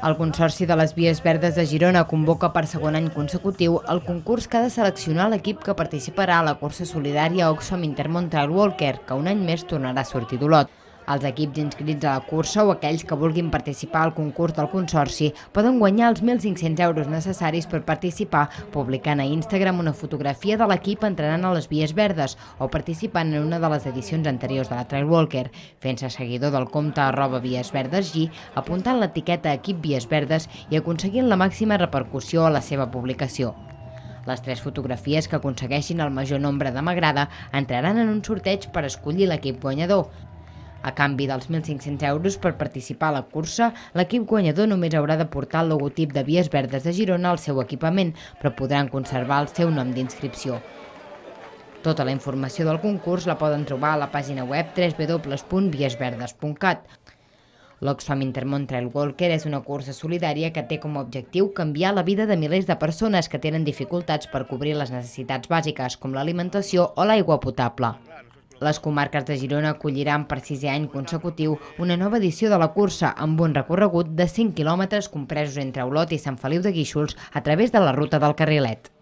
El Consorci de les Vies Verdes de Girona convoca per segon any consecutiu el concurs que ha de seleccionar l'equip que participarà a la cursa solidària Oxfam Intermón Trail Walker, que un any més tornarà a sortir d'Olot. Els equips inscrits a la cursa o aquells que vulguin participar al concurs del Consorci poden guanyar els 1.500 euros necessaris per participar publicant a Instagram una fotografia de l'equip entrenant a les Vies Verdes o participant en una de les edicions anteriors de la Trail Walker, fent-se seguidor del compte @viesverdesg, apuntant l'etiqueta Equip Vies Verdes i aconseguint la màxima repercussió a la seva publicació. Les 3 fotografies que aconsegueixin el major nombre de m'agrada entraran en un sorteig per escollir l'equip guanyador. A canvi dels 1.500 euros per participar a la cursa, l'equip guanyador només haurà de portar el logotip de Vies Verdes de Girona al seu equipament, però podran conservar el seu nom d'inscripció. Tota la informació del concurs la poden trobar a la pàgina web www.viesverdes.cat. L'Oxfam Intermón Trail Walker és una cursa solidària que té com a objectiu canviar la vida de milers de persones que tenen dificultats per cobrir les necessitats bàsiques, com l'alimentació o l'aigua potable. Les comarques de Girona acolliran per 6è any consecutiu una nova edició de la cursa amb un recorregut de 5 quilòmetres compresos entre Olot i Sant Feliu de Guíxols a través de la ruta del Carrilet.